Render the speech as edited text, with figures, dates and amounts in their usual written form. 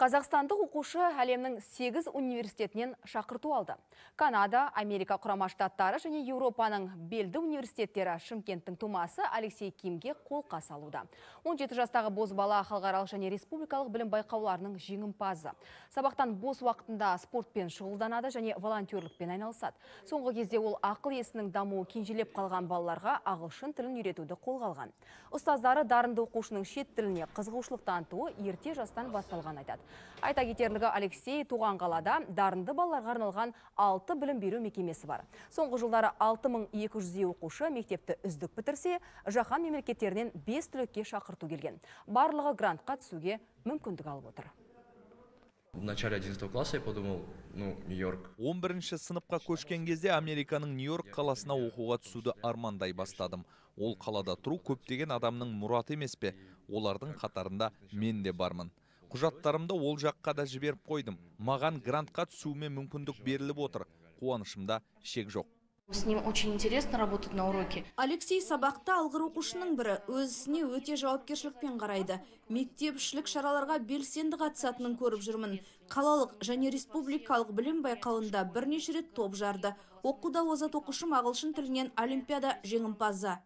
Қазақстандық оқушы әлемнің 8 университетінен шақырту алды. Канада, Америка құрама штаттары және Еуропаның белді университеттері Шымкенттің тумасы Алексей Кимге қолқа салуда. 17 жастағы бозбала халықаралық және республикалық білім байқауларының жеңімпазы. Сабақтан бос уақытында спортпен шұғылданады және волонтерлікпен айналысады. Соңғы кезде ол ақыл есінің дамуы кенжелеп қалған балаларға ағылшын тілін үйретуді қолға алған. Ұстаздары дарынды оқушының шет тіліне қызығушылық танытуы ерте жастан басталған айтады. Айта кетерлігі, Алексей туған қалада дарынды балаларға арналған 6 білім беру мекемесі бар. Соңғы жылдары 6200 оқушы мектепті үздік бітірсе, жаһан мемлекеттерінен 5 түлекке шақырту келген. Барлығы грантқа түсуге мүмкіндік алып отыр. В начале 11 класса я подумал, Нью-Йорк. 11-ші сыныпқа көшкен кезде Американың Нью-Йорк қаласына оқуға түсуді армандай бастадым. Ол қалада тұру көптеген адамның мұраты емес пе? Олардың қатарында мен де бармын. Құжаттарымды ол жаққа да жіберіп қойдым. Маған грантқа түсуіме мүмкіндік беріліп отыр. Қуанышымда шек жоқ. С ним очень интересно работать на уроке. Алексей сабақта алғыр оқушының бірі, өз ісіне өте жауапкершілікпен қарайды. Мектепішілік шараларға белсенді қатысатынын көріп жүрмін. Қалалық және республикалық білім байқауында бірнеше рет топ жарды. Оқуда озат оқушым ағылшын тілінен олимпиада жеңімпазы.